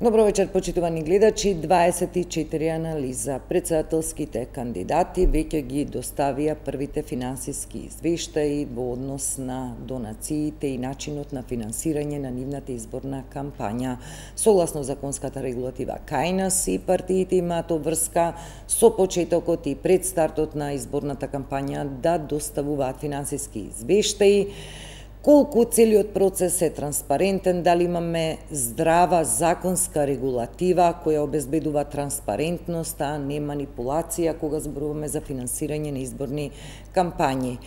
Добро вечер, почитувани гледачи. 24 анализа. Председателските кандидати веќе ги доставија првите финансиски извештаи во однос на донациите и начинот на финансирање на нивната изборна кампања. Согласно законската регулатива кај нас и партиите имаат обврска со почетокот и пред стартот на изборната кампања да доставуваат финансиски извештаи. Колку целиот процес е транспарентен, дали имаме здрава законска регулатива која обезбедува транспарентност, а не манипулација кога зборуваме за финансирање на изборни кампањи.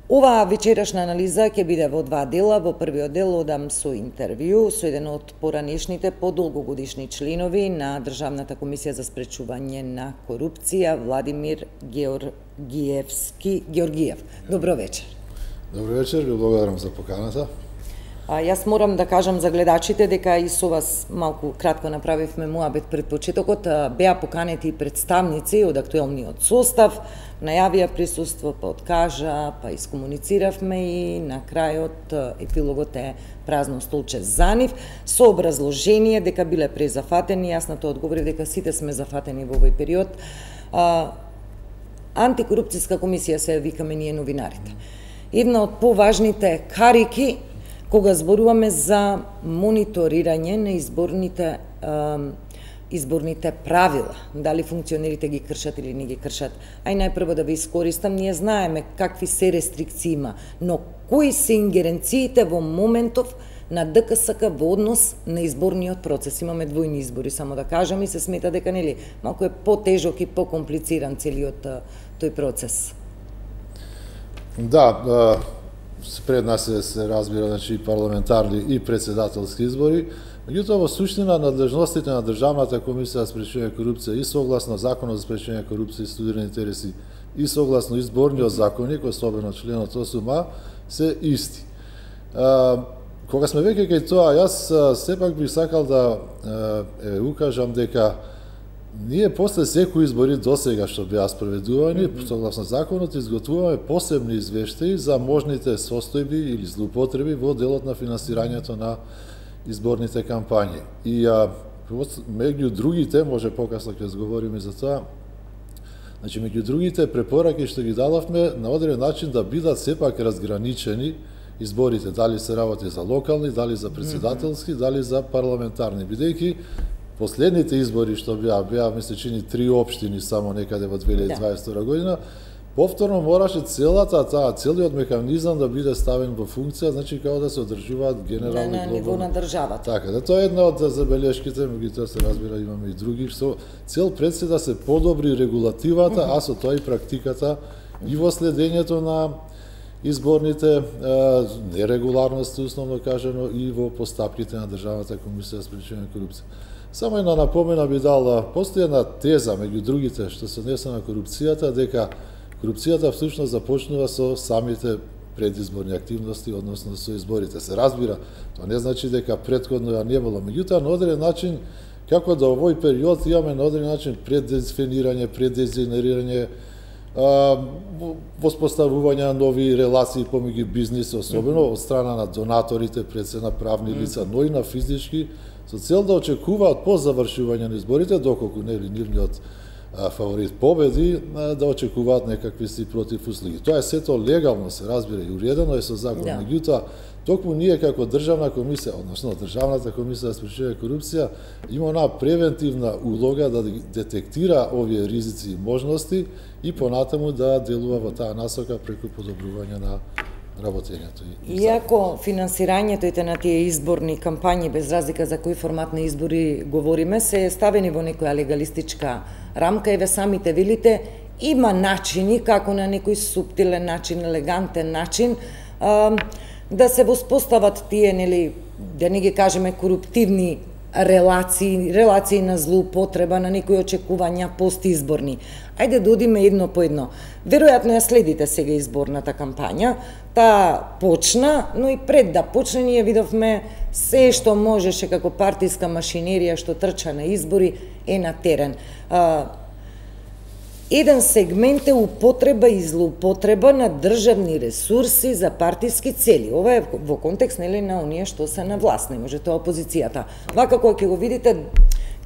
Оваа вечерашна анализа ќе биде во два дела. Во првиот дел одам со интервју со еден од поранешните подолгогодишни членови на Државната комисија за спречување на корупција, Владимир Георгиев. Добро вечер. Добро вечер, ви благодарам за поканата. Јас морам да кажам за гледачите дека и со вас малку кратко направивме муабет пред почетокот. Беа поканети и представници од актуелниот состав, најавија присуство, па откажа, па искомунициравме и на крајот епилогот е празно столче за нив, со образложение дека биле презафатени. Јас на тоа одговорив дека сите сме зафатени во овој период. Антикорупцијска комисија се викаме ние новинарите. Една од поважните карики кога зборуваме за мониторирање на изборните правила, дали функционерите ги кршат или не ги кршат. Ај најпрво да ви искористам, ние знаеме какви се рестрикции има, но кои се ингеренциите во моментов на ДКСК во однос на изборниот процес. Имаме двојни избори, само да кажам, и се смета дека нели малку е потежок и покомплициран целиот тој процес. Да, пред нас се разбира, значи, парламентарни и председателски избори, меѓутоа во суштина надлежностите на Државната комисија за спречување корупција и согласно Законот за спречување корупција и студирани интереси и согласно изборниот законник, особено членот 8а, се исти. Кога сме веќе кај тоа, јас сепак би сакал да укажам дека ние после секои избори досега што беа спроведувани, согласно законот, изготвуваме посебни извештаи за можните состојби или злоупотреби во делот на финансирањето на изборните кампањи. И меѓу другите, може покасно ќе зговориме за тоа, значи меѓу другите препораки што ги дадовме на одреден начин да бидат сепак разграничени изборите, дали се работи за локални, дали за председателски, дали за парламентарни, бидејќи последните избори што беа ми се чини 3 општини само некаде во 2022 година, повторно мораше целиот механизам да биде ставен во функција, значи како да се одржуваат генерални на ниво на државата. Така, да тоа е една од забелешките, меѓутоа се разбира имаме и други, што цел пред се да се подобри регулативата, а со тоа и практиката и во следењето на изборните нерегуларности, основно кажано, и во постапките на Државната комисија за спречување на корупција. Само една напомена би дала, постои една теза меѓу другите што се однесе на корупцијата, дека корупцијата всушност започнува со самите предизборни активности, односно со изборите. Се разбира, тоа не значи дека претходно ја не било, меѓутоа на одреден начин, како да овој период имаме на одреден начин преддефинирање, преддизајнирање, воспоставување на нови релации помеѓу бизнис, особено од страна на донаторите, пред се на правни лица, но и на физички, со цел да очекуваат по завршување на изборите, доколку нели нивниот фаворит победи, да очекуваат некакви си противуслуги. Тоа е сето легално, се разбира, и уредено е со закон. Меѓутоа, токму ние како Државна комисија, односно Државната комисија за спречување корупција, има онаа превентивна улога да детектира овие ризици и можности и понатаму да делува во таа насока преку подобрување на работењето. Иако финансирањето и на тие изборни кампањи, без разлика за кој формат на избори говориме, се ставени во некоја легалистичка рамка и ве самите велите, има начини, како на некој суптилен начин, елегантен начин, да се воспостават тие, нели, да не ги кажеме коруптивни релации на злоупотреба, на некои очекувања постизборни. Ајде да одиме едно по едно. Веројатно ја следите сега изборната кампања, таа почна, но и пред да почне ние видовме се што можеше како партиска машинерија што трча на избори е на терен. еден сегмент е употреба и злоупотреба на државни ресурси за партиски цели. Ова е во контекст нели на оние што се на власт, не може тоа опозицијата. Вака кога ќе го видите,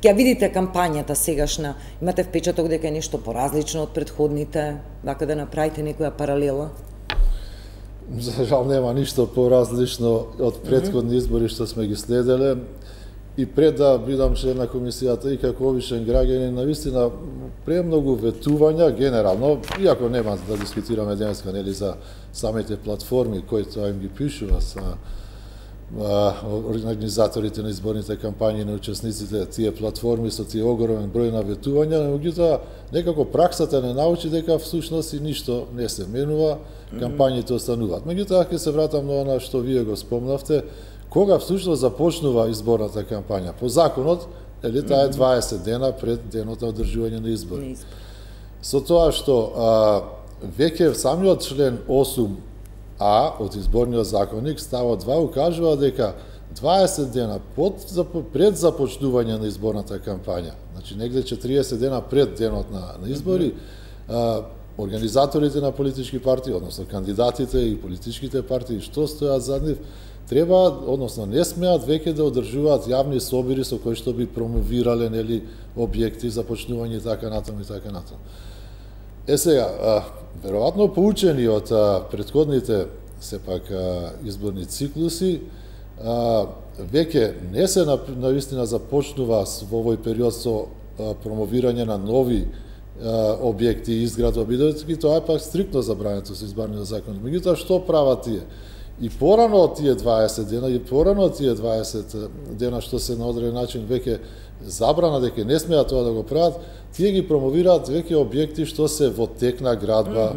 ќе видите кампањата сегашна, имате впечаток дека е нешто поразлично од претходните, вака да направите некоја паралела? За жал нема ништо поразлично од претходни избори што сме ги следеле. И пред да бидам член на комисијата и како обичен граѓанин, навистина премногу ветувања генерално, иако нема да дискутираме денеска нели за самите платформи кои тоа им ги пишува са организаторите на изборните кампањи, на учесниците, тие платформи со тие огромен број на ветувања, меѓутоа некако праксата не научи дека всушност и ништо не се менува, кампањите остануваат. Меѓутоа ќе се вратам на она што вие го спомнавте, кога всушност започнува изборната кампања. По законот, таа е 20 дена пред денот на одржување на избори. Со тоа што веќе самиот член 8а од изборниот законник ставот 2 укажува дека 20 дена пред започнување на изборната кампања, значи негде 40 дена пред денот на избори, организаторите на политички партии, односно кандидатите и политичките партии што стојат зад нив, треба, односно не смеат веќе да одржуваат јавни собири со кои што би промовирале нели објекти за почнување и така натаму и така натаму. Сега, веројатно поучени од претходните сепак изборни циклуси, веќе не се навистина започнува во овој период со промовирање на нови објекти и изградба, бидејќи тоа е пак стриктно забрането со изборниот закон. Меѓутоа што прават тие? И порано од тие 20 дена, и порано од тие 20 дена што се на одреден начин веќе забрана дека не смеат тоа да го прават, тие ги промовираат веќе објекти што се во тек на градба,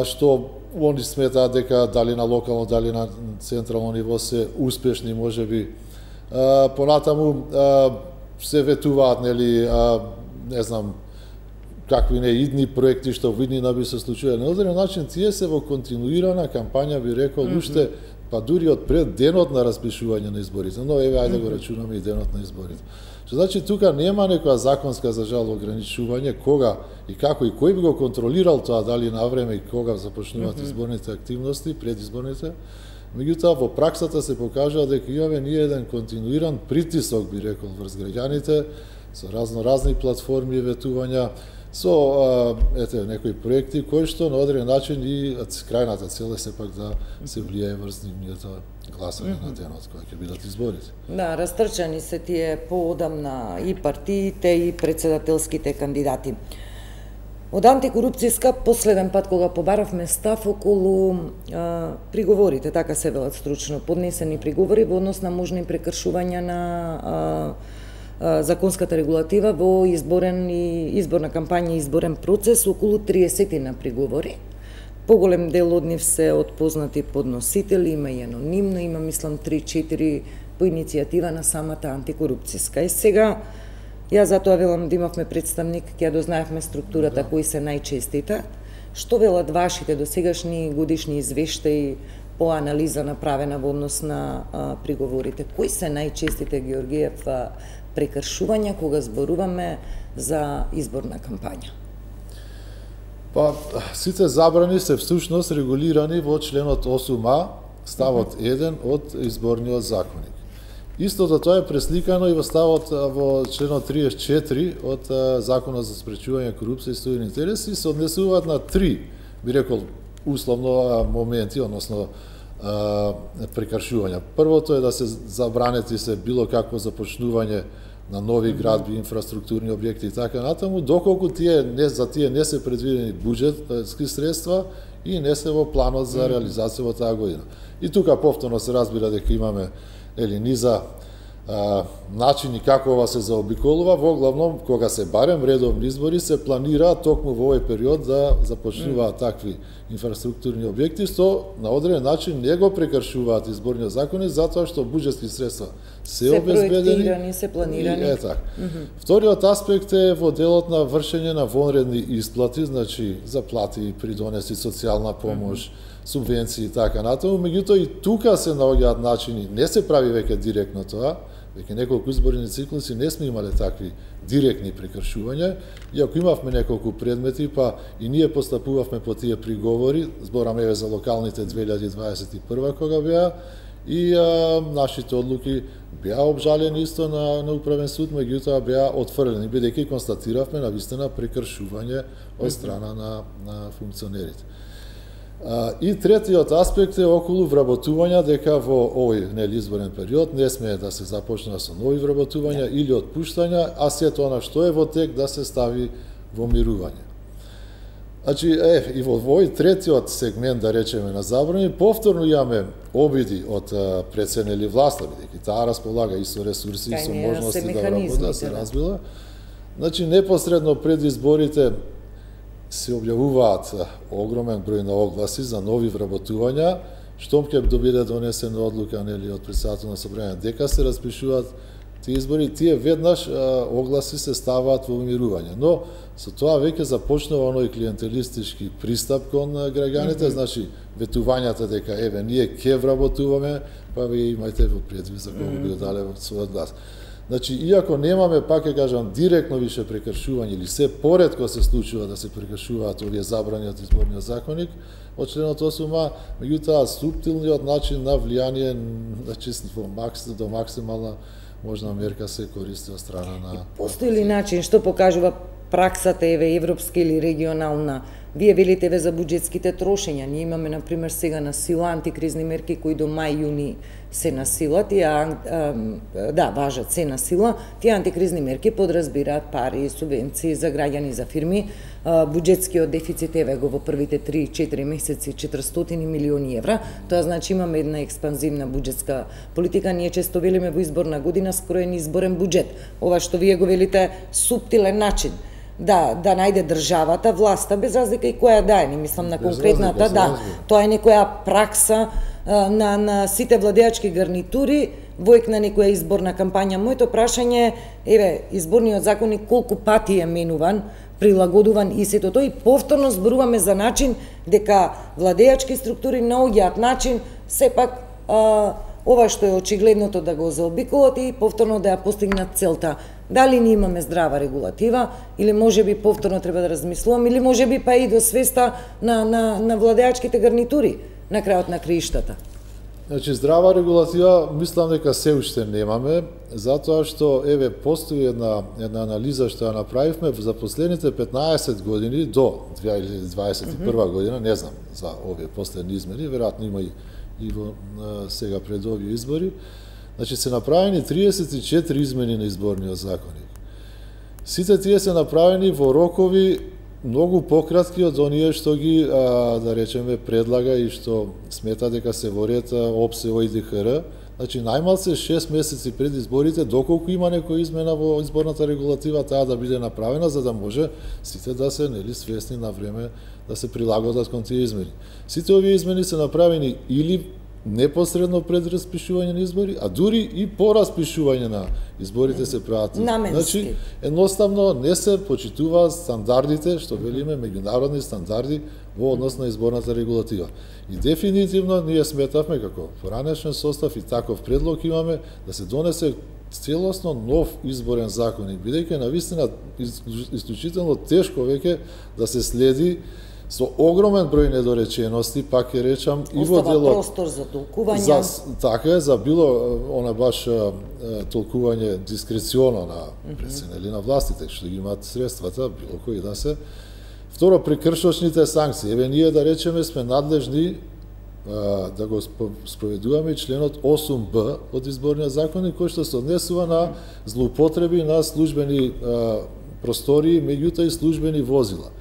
што они сметаат дека дали на локално, дали на централно ниво се успешни можеби. Понатаму се ветуваат нели не знам какви не идни проекти што во иднина би се случиле. На одреден начин тие се во континуирана кампања, би рекол, уште па дури од пред денот на распишување на изборите. Но еве ајде го рачунаме и денот на изборите. Што значи тука нема некоја законска за жал ограничување кога и како и кој би го контролирал тоа, дали на време и кога започнуваат изборните активности, предизборните. Меѓутоа во праксата се покажува дека имаме ние еден континуиран притисок, би рекол, врз граѓаните со разни платформи и ветувања, со некои проекти кои што на одреден начин и крајната цел е сепак да се влијае врз нивниот гласање на денот кога ќе бидат изборите. Да, растрчани се тие поодамна и партиите и председателските кандидати. Од антикорупцијска последен пат кога побаравме став околу приговорите, така се велат стручно, поднесени приговори во однос на можни прекршувања на законската регулатива во изборна кампања и изборен процес, околу 30 на приговори. Поголем дел од нив се од познати подносители, има и анонимно, има мислам 3-4 по иницијатива на самата антикорупцијска. И сега, ја затоа велам да имавме представник, ќе дознаевме структурата кои се најчестите. Што велат вашите досегашни годишни извештаи по анализа направена во однос на приговорите? Кои се најчестите, Георгиев, прекршувања кога зборуваме за изборна кампања? Па, сите забрани се всушност регулирани во членот 8а, ставот 1 од изборниот законник. Истото тоа е пресликано и во ставот во членот 34 од Законот за спречување корупција и стојни интереси, се однесуваат на 3, би рекол, условно моменти, односно прекршувања. Првото е да се забранети се било какво започнување на нови градби, инфраструктурни објекти и така натаму, доколку за тие не се предвидени буџетски средства и не се во планот за реализација во таа година. И тука повторно се разбира дека имаме низа начини како ова се заобиколува, во главном кога се барем редовни избори се планира токму во овој период да започнуваат такви инфраструктурни објекти, што на одреден начин не го прекршуваат изборниот закон затоа што буџетски средства се обезбедени, се планирани. Вториот аспект е во делот на вршење на вонредни исплати, значи заплати, придонеси, социјална помош, субвенции и така натаму, меѓутоа и тука се наоѓаат начини, не се прави веќе директно тоа, веќе неколку изборни циклуси не сме имале такви директни прекршувања, иако имавме неколку предмети, па и ние постапувавме по тие приговори, збораме еве за локалните 2021 кога беа, и нашите одлуки беа обжалени исто на управен суд, меѓутоа беа отфрлени, бидејќи констатиравме навистина прекршување од страна на функционерите. И третиот аспект е околу вработувања, дека во овој изборен период не сме да се започнува со нови вработувања или отпуштања, а сето она што е во тек да се стави во мирување. Значи, и во овој третиот сегмент, да речеме, на забрани, повторно имаме обиди од преценели власта, бидејќи таа располага и со ресурси, и со можности да работи, се разбила. Значи, непосредно пред изборите се објавуваат огромен број на огласи за нови вработувања, штом ќе биде донесена одлука нели од председател на собрање дека се распишуваат тие избори, тие веднаш огласи се ставаат во умирување. Но со тоа веќе започнува оној клиентелистички пристап кон граѓаните, значи ветувањата дека еве ние ќе вработуваме, па вие имајте во предвид за кого би дале својот глас. Значи, иако немаме, пак ќе кажам, директно више прекршување или се поретко се случува да се прекршуваат овие забрани од изборниот законник од членот 8а, меѓутоа суптилниот начин на влијание, значи до максимална можна мерка се користи од страна на... Постои ли начин, што покажува праксата, еве, европска или регионална? Вие велите еве за буџетските трошења. Ние имаме, например, сега на сила антикризни мерки кои до мај-јуни се на сила, важат се на сила. Тие антикризни мерки подразбираат пари, субвенции за граѓани, за фирми. Буџетскиот дефицит еве го во првите 3-4 месеци 400 милиони евра. Тоа значи имаме една експанзивна буџетска политика. Ние често велиме во изборна година скроен изборен буџет. Ова што вие го велите суптилен начин да најде државата, власта, без разлика и која да е, не мислам на конкретната, тоа е некоја пракса на сите владеачки гарнитури во ек на некоја изборна кампања. Моето прашање е, еве, изборниот законник колку пати е менуван, прилагодуван и сето тоа, и повторно зборуваме за начин дека владеачки структури наоѓаат начин сепак ова што е очигледното да го заобиколат и повторно да ја постигнат целта. Дали ние имаме здрава регулатива, или можеби повторно треба да размислуваме, или можеби па и до свеста на владеачките гарнитури на крајот на краиштата. Значи, здрава регулатива, мислам дека се уште немаме, затоа што, еве, постои една анализа што ја направивме за последните 15 години до 2021 година, не знам за овие последни измени, веројатно има и во сега пред овие избори. Значи, се направени 34 измени на изборниот законник. Сите тие се направени во рокови многу пократки од оние што ги, да речеме, предлага и што смета дека се во ред ОПСЕ и ДХР. Значи, најмалце 6 месеци пред изборите, доколку има некоја измена во изборната регулатива, таа да биде направена, за да може сите да се свесни на време да се прилагодат кон тие измени. Сите овие измени се направени или непосредно пред распишување на избори, а дури и по распишување на изборите се прават. Значи, едноставно не се почитуваат стандардите, што велиме меѓународни стандарди во однос на изборната регулатива. И дефинитивно ние сметавме како поранешен состав и таков предлог имаме да се донесе целосно нов изборен законник, бидејќи навистина исклучително тешко веќе да се следи со огромен број недоречености, пак ќе речам, и во делот простор за толкување. Така е, за било она баш толкување дискреционо на преценели на властите, што ги имаат средствата, било кои да се. Второ, прекршочните санкции. Еве, ние да речеме сме надлежни да го спроведуваме членот 8б од изборниот законник, кој што се однесува на злоупотреби на службени простории, меѓутоа и службени возила.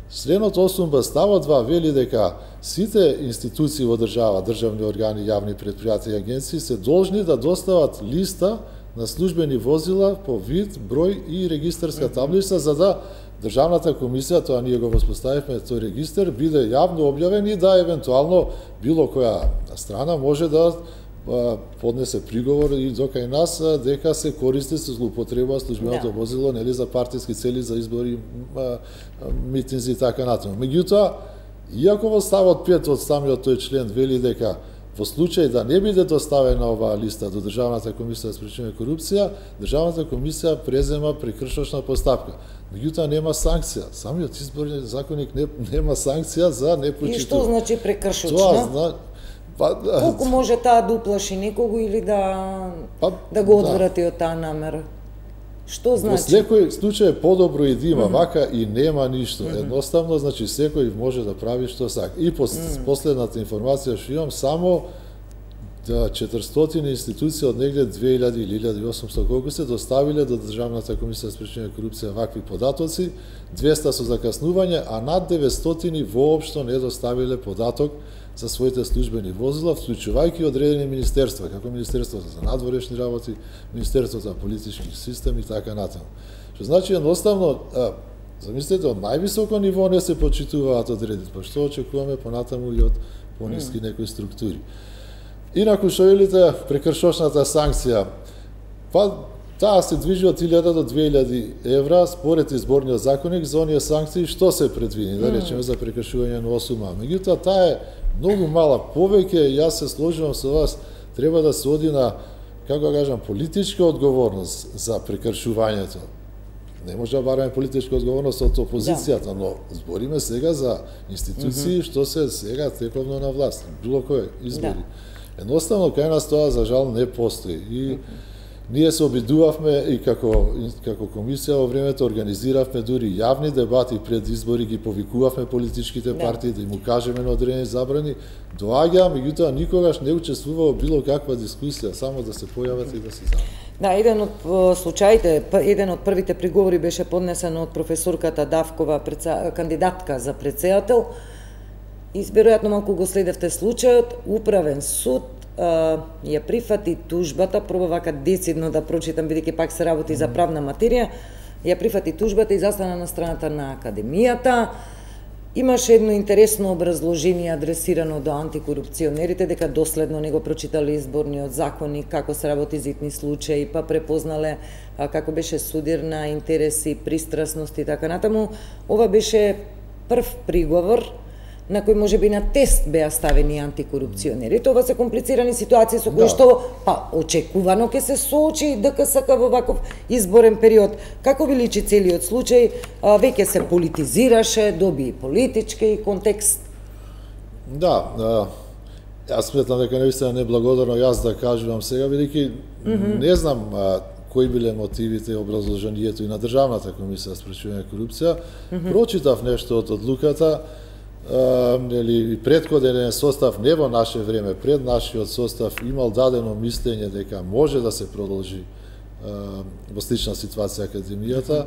Членот 8б ставот 2 вели дека сите институции во држава, државни органи, јавни претпријатија и агенции се должни да достават листа на службени возила по вид, број и регистарска таблица, за да Државната комисија, тоа ние го воспоставивме, тој регистар биде јавно објавен и да евентуално било која страна може да поднесе приговор и до кај нас дека се користи со злоупотреба службеното возило, нели, за партиски цели, за избори, митинзи и така натаму. Меѓутоа, иако во ставот 5 од самиот тој член вели дека во случај да не биде доставена оваа листа до Државната комисија за спречување корупција, Државната комисија презема прекршочна постапка. Меѓутоа нема санкција. Самиот изборен законник нема санкција за непочитување. И што значи прекршочна? Тоа Колку може таа да уплаши некого или да го одврати од таа намера? Што значи? Во секој случај е подобро и да има, вака и нема ништо. Едноставно, значи, секој може да прави што сака. И последната информација што имам, само 400 институции од негде 2000 или 1800 колку се доставиле до Државната комисија за спречување корупција вакви податоци, 200 со закаснување, а над 900 воопшто не доставиле податок за своите службени возила, вклучувајќи одредени министерства, како Министерството за надворешни работи, Министерството за политички систем и така натаму. Што значи едноставно, замислете, од највисоко ниво не се почитуваат одредите, па што очекуваме понатаму и од пониски некои структури. Инаку што велите прекршочната санкција, таа се движи од 1000 до 2000 евра според изборниот законник за оние санкции што се предвидени, да речеме за прекршување на осума. Меѓутоа таа е многу мала, повеќе јас се сложувам со вас, треба да се оди на, како кажам, политичка одговорност за прекршувањето. Не може да бараме политичка одговорност од опозицијата, но збориме сега за институции што се сега тековно на власт, било кој избори. Едноставно, кај нас тоа, за жал, не постои. И ние се обидувавме и како комисија во времето организиравме дури јавни дебати пред избори, ги повикувавме политичките партии да им укажеме на одредени забрани. Доаѓа, меѓутоа никогаш не учествува во било каква дискусија, само да се појават и да се забрани. Да, еден од случаите, еден од првите приговори беше поднесен од професорката Давкова, кандидатка за претседател. И веројатно малку го следевте случајот, управен суд ја прифати тужбата, пробав вака децидно да прочитам, бидејќи пак се работи за правна материја, ја прифати тужбата и застана на страната на академијата. Имаше едно интересно образложение адресирано до антикорупционерите, дека доследно не го прочитале изборниот законник, како се работи за итни случаи, па препознале како беше судир на интереси, пристрасност и така натаму. Ова беше прв приговор на кој може би на тест беа ставени антикорупционери. Тоа се комплицирани ситуации со кои што очекувано ќе се соочи ДКСК во ваков изборен период. Како ви личи целиот случај, веќе се политизираше, доби политички контекст. Да, јас сметам дека навистина неблагодарно јас да кажувам сега, бидејќи не знам кои биле мотивите и образложението и на Државната комисија за спречување корупција. Прочитав нешто од одлуката, и претходен состав, не во наше време, пред нашиот состав имал дадено мислење дека може да се продолжи во слична ситуација академијата,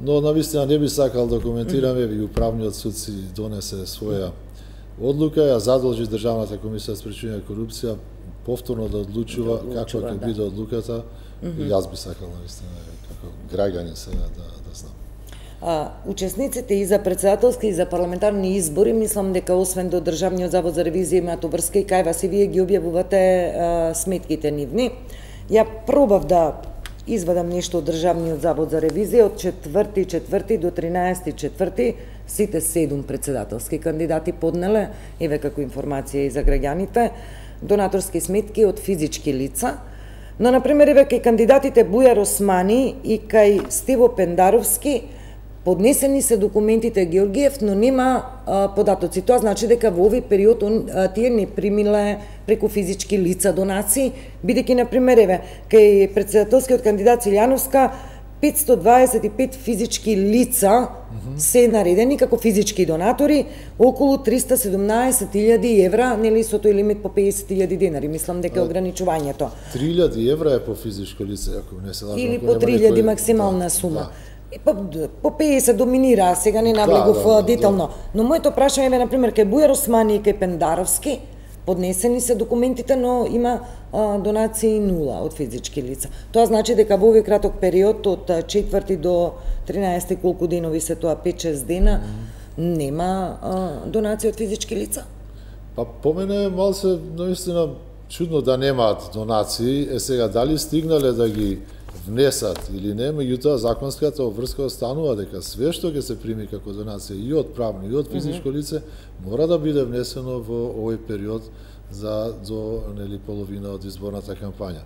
но навистина не би сакал да коментираме, и управниот суд си донесе своја одлука, ја задолжи Државната комисија за спречување корупција повторно да одлучува каква ќе биде одлуката, и јас би сакал навистина како граѓанин сега да знам. Учесниците и за претседателски и за парламентарни избори, мислам дека освен до Државниот завод за ревизија имаат обврска и кај вас и вие ги објавувате сметките нивни. Ја пробав да извадам нешто од Државниот завод за ревизија од 4.4. до 13.4. сите 7 претседателски кандидати поднеле, еве како информација и за граѓаните, донаторски сметки од физички лица. Но, например, еве кај кандидатите Бујар Османи и кај Стево Пендаровски поднесени се документите Георгиев, но нема податоци. Тоа значи дека во овој период тие не примиле преку физички лица донации, бидејќи, например, еве, кај претседателскиот кандидат Силјановска 525 физички лица се наредени како физички донатори, околу 317.000 евра, нели со тој лимит по 50.000 денари, мислам дека ограничувањето. 3.000 евра е по физичко лице, ако не се лажам. Или по 3.000 максимална сума. И по 50 доминира, сега не навлегов детално. Но моето прашање е, например, кај Бујар Османи и кај Пендаровски, поднесени се документите, но има донации 0 од физички лица. Тоа значи дека во овој краток период, од 4 до 13 колку денови се тоа, 5-6 дена, нема донации од физички лица? Па по мене малце наистина чудно да немаат донации. Сега дали стигнале да ги внесат или не, меѓутоа законската обврска останува дека све што ќе се прими како донација и од правно и од физичко лице мора да биде внесено во овој период за до половина од изборната кампања.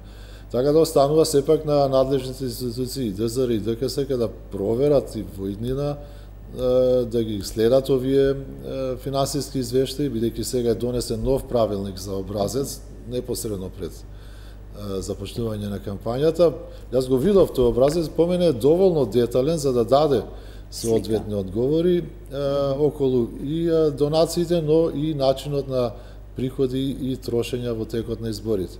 Така да останува сепак на надлежните институции, ДЗР и ДКС, да проверат и во иднина, да ги следат овие финансиски извештаи, бидејќи сега е донесен нов правилник за образец, непосредно пред започнување на кампањата. Јас го видов тој образец, по мене е доволно детален за да даде соодветни одговори околу и донациите, но и начинот на приходи и трошења во текот на изборите.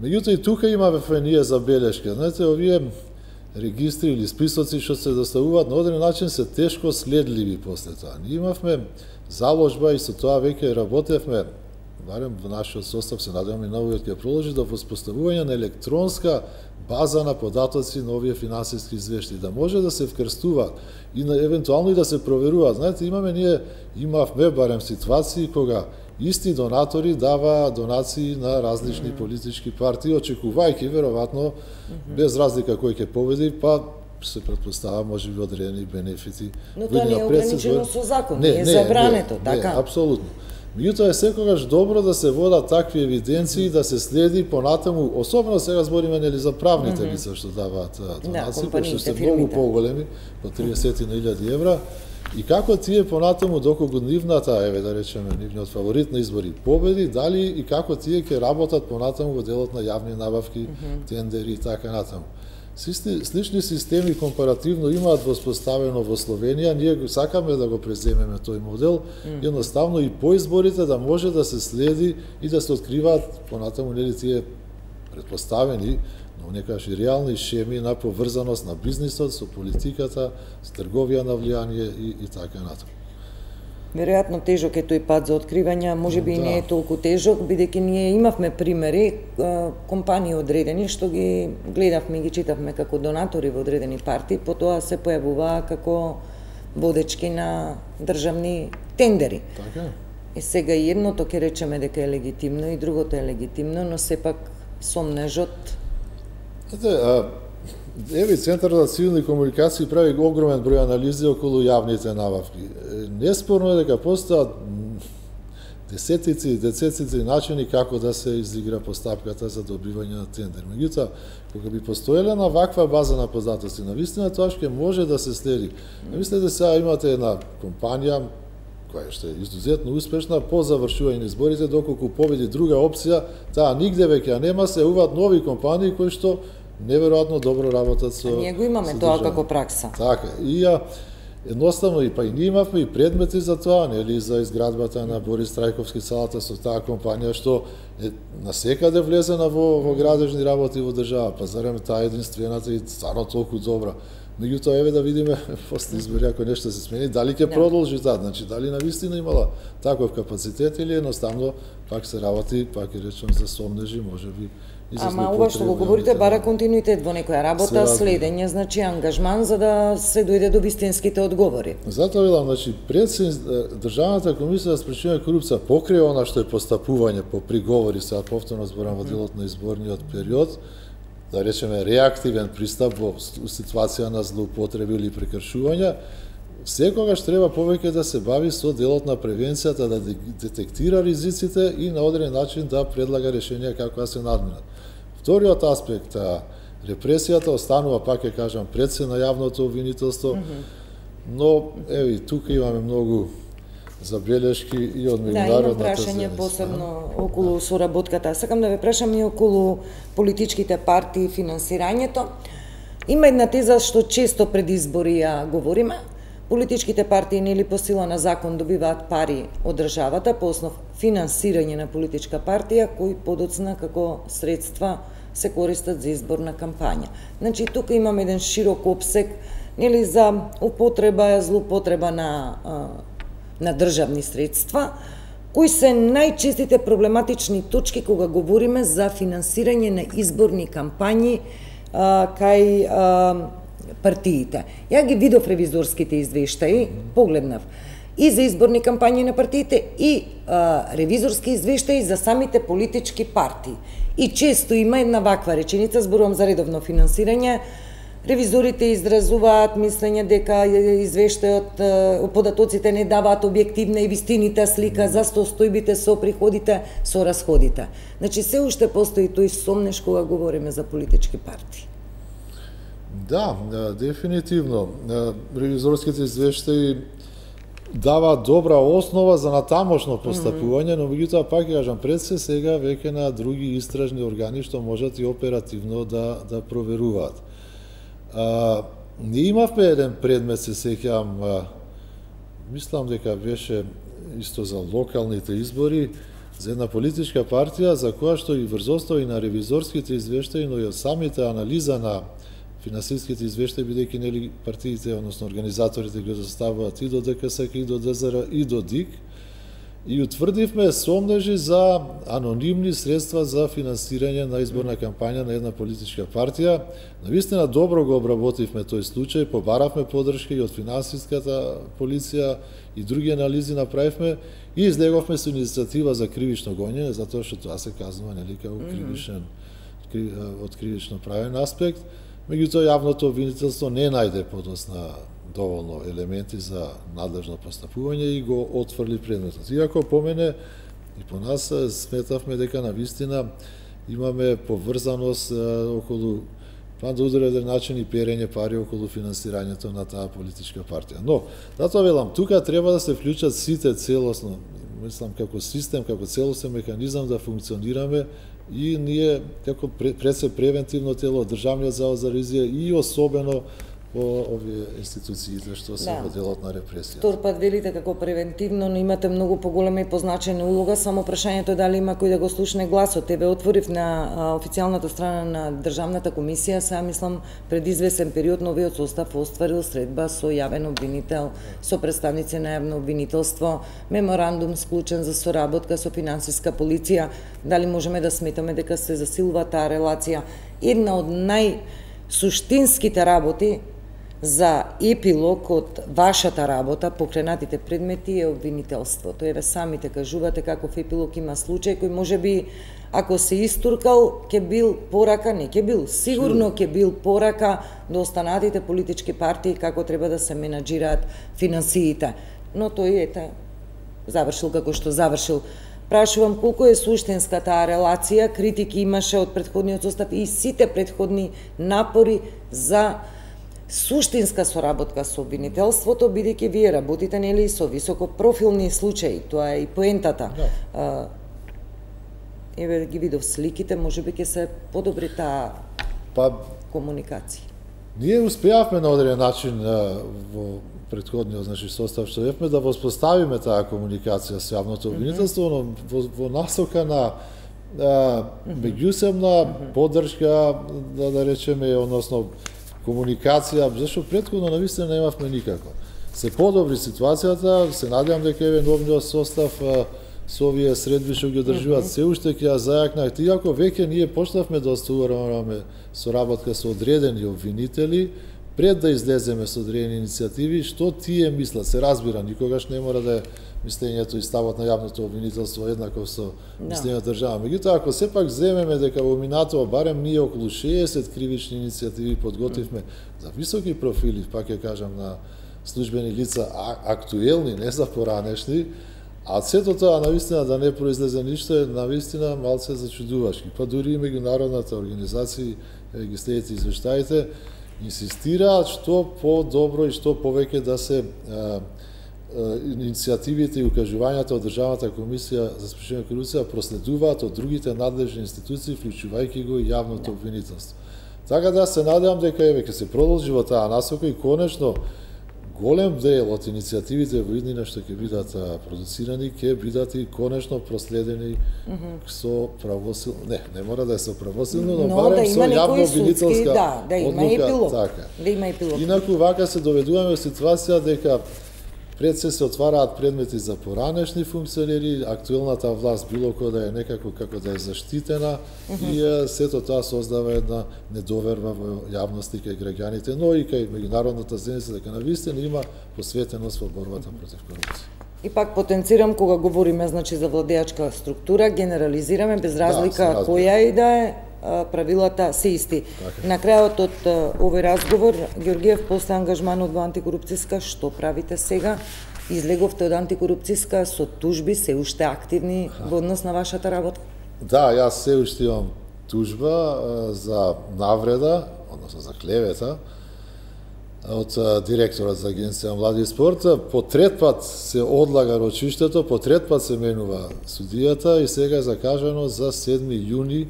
Меѓутоа и тука имавме ние забелешка. Знаете, овие регистри или списоци што се доставуваат на одреден начин се тешко следливи после тоа. Ние имавме заложба и со тоа веќе работевме, барем во нашиот состав, се надеваме и новиот ќе продолжи, до воспоставување на електронска база на податоци на овие финансиски извештаи, да може да се вкрстуваат и евентуално и да се проверуваат. Знаете, имавме барем ситуации кога исти донатори дава донации на различни политички партии, очекувајќи веројатно без разлика кој ќе победи, па се претпоставува можеби одредени бенефити. Но тоа не е ограничено со закон, не е забрането, така? Не, апсолутно. Меѓутоа е секогаш добро да се водат такви евиденции, да се следи понатаму, особено сега збориме нели за правните лица што даваат донации, кои што се многу поголеми, по 30.000 евра, и како тие понатаму доколку нивната, да речеме, нивниот фаворит на избори победи, дали и како тие ќе работат понатаму во делот на јавни набавки, тендери и така натаму. Слични системи компаративно имаат воспоставено во Словенија, ние сакаме да го преземеме тој модел, едноставно и по изборите да може да се следи и да се откриваат понатаму нели тие претпоставени, но некаш и реални шеми на поврзаност на бизнисот со политиката, со трговија на влијание и така натаму. Веројатно тежок е тој пат за откривање, можеби и не е толку тежок, бидејќи ние имавме примери, компании одредени, што ги гледавме и ги читавме како донатори во одредени партии, потоа се појавуваа како водечки на државни тендери. Така. И сега и едното ќе речеме дека е легитимно и другото е легитимно, но сепак сомнежот... Еве, Центар за цивилни комуникации прави огромен број анализи околу јавните набавки. Неспорно е дека постојат десетици начини како да се изигра постапката за добивање на тендер. Меѓутоа, кога би постоела на ваква база на податоци, навистина тоа ќе може да се следи. Мислете сега имате една компанија која што е изузетно успешна по завршување на изборите, доколку победи друга опција, таа нигде веќе нема, се уваат нови компании кои што неверојатно добро работат со... ние го имаме тоа како пракса. Така, и едноставно и ние имавме и предмети за тоа, нели, за изградбата на Борис Трајковски салата со таа компанија што е насекаде влезена во градежни работи во држава, па зарем таа единствената и стварно толку добра. Меѓутоа, еве да видиме после избори ако нешто се смени, дали ќе продолжи таа, значи дали навистина имала таков капацитет или едноставно пак се работи, пак ќе речем за сомнежи, можеби. Ама ова што го говорите бара континуитет во некоја работа, следење, значи ангажман за да се дојде до вистинските одговори. Затоа велам, значи Државната комисија за спречување корупција покрај она што е постапување по приговори, сега повторно зборам во делот на изборниот период, да речеме реактивен пристап во ситуација на злоупотреби или прекршувања, секогаш треба повеќе да се бави со делот на превенцијата, да детектира ризиците и на одреден начин да предлага решенија како да се надминат. Вториот аспект, репресијата останува, пак ќе кажам, пред се на јавното обвинителство, но еве тука имаме многу забелешки и од меѓународната имам прашање посебно околу соработката. Сакам да ве прашам и околу политичките партии и финансирањето. Има една теза што често пред избори ја говориме. Политичките партии нели по сила на закон добиваат пари од државата по основ финансирање на политичка партија, кои подоцна како средства се користат за изборна кампања. Значи тука имаме еден широк опсек нели за употреба, злоупотреба на државни средства, кои се најчестите проблематични точки кога говориме за финансирање на изборни кампањи кај партиите. Ја ги видов ревизорските извештаи, погледнав и за изборни кампањи на партиите и ревизорски извештаи за самите политички партии. И често има една ваква реченица, зборувам за редовно финансирање, Ревизорите изразуваат мислење дека извештајот, податоците не даваат објективна и вистинита слика за состојбите со приходите, со расходите. Значи, се уште постои тој сомнеш кога говориме за политички партии. Да, дефинитивно. Ревизорските извештаи дава добра основа за натамошно постапување, но меѓутоа пак ќе кажам, пред се сега веќе на други истражни органи што можат и оперативно да проверуваат. Ние имавме еден предмет, се сеќавам, мислам дека беше исто за локалните избори, за една политичка партија за која што и врз основа и на ревизорските извештаи, но и од самите анализа на финансиските извештаи, бидејќи нели партиите, односно организаторите ги доставуваат и до ДКСК, и до ДЗР, и до ДИК, и утврдивме сомнежи за анонимни средства за финансирање на изборна кампања на една политичка партија. Навистина добро го обработивме тој случај, побаравме подршка и од финансиската полиција и други анализи направивме и излеговме со иницијатива за кривично гонење, затоа што тоа се казува нели како кривичен од кривично правен аспект. Меѓутоа, јавното обвинителство не најде подосна доволно елементи за надлежно постапување и го отфрли предметот. Иако по мене и по нас сметавме дека навистина имаме поврзаност околу на одреден начин и перење пари околу финансирањето на таа политичка партија. Но, затоа велам, тука треба да се вклучат сите целосно, мислам, како систем, како целосен механизам да функционираме и ние, како пред се превентивно тело, Државниот завод за ревизија и особено по овие институциите што се во делот на репресија. Втор пат велите како превентивно, но имате многу поголема и позначена улога, само прашањето е дали има кој да го слушне гласот. Тебе отворив на официјалната страна на Државната комисија, сега мислам пред извесен период новиот состав остварил средба со јавен обвинител, со представници на јавно обвинителство, меморандум склучен за соработка со финансиска полиција. Дали можеме да сметаме дека се засилува таа релација? Една од најсуштинските работи за епилог од вашата работа, покренатите предмети е обвинителството. Еве самите кажувате каков епилог има случај кој можеби ако се истуркал ќе бил порака, не ќе бил, сигурно ќе бил порака до останатите политички партии како треба да се менаџираат финансиите. Но тој завршил како што завршил. Прашувам колку е суштинска таа релација, критики имаше од претходниот состав и сите претходни напори за суштинска соработка со обвинителството, бидејќи вие работите нели со високопрофилни случаи, тоа е и поентата. Да. Еве ги видов сликите, можеби ќе се подобри таа комуникација. Ние успеавме на одреден начин во претходниот состав што имавме да воспоставиме таа комуникација со јавното обвинителство, но во насока на меѓусебна поддршка, да речеме, односно комуникација, зашто претходно навистина немавме никако. Се подобри ситуацијата, се надевам дека еве новиот состав со овие средби што ги одржуваат се уште ќе ја зајакнат, иако веќе ние почнавме да остваруваме соработка со одредени обвинители, пред да излеземе со одредени иницијативи, што тие мислат, се разбира, никогаш не мора да е мислењето и ставот на јавното обвинителство еднаков со мислењето држава. Меѓутоа, ако сепак земеме дека во минатово барем ние околу 60 кривични иницијативи подготвивме за високи профили, пак ќе кажам, на службени лица актуелни, не за поранешни, а сето тоа навистина да не произлезе ништо е навистина малце зачудувачки. Па дури и меѓународната организација, ги следите извештаите, инсистираат што по-добро и што повеќе да се иницијативите и укажувањата од Државната комисија за спречување корупција проследуваат од другите надлежни институции, вклучувајќи го и јавното обвинителство. Така да се надевам дека еве ќе се продолжи во таа насока и конечно голем дел од иницијативите во иднина што ќе бидат продуцирани ќе бидат и конечно проследени со правосилно, не мора да е со правосилно, но барем со јавно обвинителска одлука. Да има епилог. Инаку вака се доведуваме во ситуација дека пред се отвараат предмети за поранешни функционери, актуелната власт било кој да е некако како да е заштитена и сето тоа создава една недоверба во јавност и кај граѓаните, но и кај меѓународната заедница дека навистина има посветеност во борбата против корупција. И пак потенцирам кога говориме за владеачка структура, генерализираме без разлика која и да е, правилата се исти. На крајот од овој разговор, Георгиев, после ангажманот во антикорупцијска, што правите сега? Излеговте од антикорупцијска со тужби, се уште активни во однос на вашата работа? Да, јас се уште имам тужба за навреда, односно за клевета, од директорот за Агенција Млади и спорт. По трет пат се одлага рочиштето, по трет пат се менува судијата и сега е закажано за 7 јуни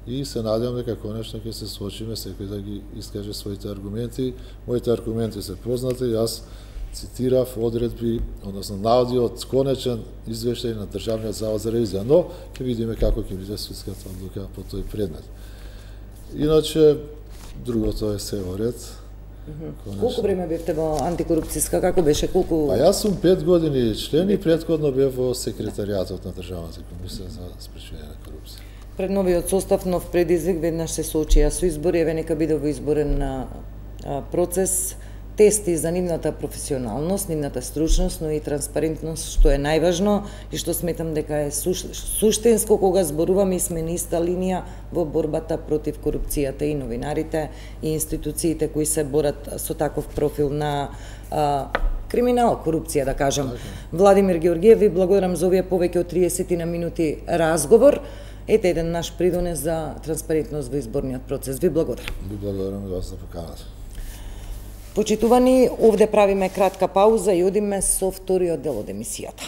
и се надевам дека конечно ќе се случиме секој да ги искаже своите аргументи. Моите аргументи се познати, јас цитирав одредби, односно наводи од конечен извештај на Државниот завод за ревизија, но ќе видиме како ќе биде судската одлука по тој предмет. Иначе, другото е се во ред. Колку време бевте во антикорупцијска, како беше, колку... Па јас сум 5 години член и претходно бев во секретаријатот на Државната комисија за спречување на корупција. Пред новиот состав, нов предизвик, веднаш се соочија со избори, еве нека биде во изборен процес, тести за нивната професионалност, нивната стручност, но и транспарентност, што е најважно и што сметам дека е суштинско кога зборуваме и сме на иста линија во борбата против корупцијата, и новинарите, и институциите кои се борат со таков профил на криминал, корупција, да кажам. Владимир Георгиев, ви благодарам за овие повеќе од 30 минути разговор. Ете еден наш придонес за транспарентност во изборниот процес. Ви благодарам. Ви благодарам и вас за поканата. Почитувани, овде правиме кратка пауза и одиме со вториот дел од емисијата.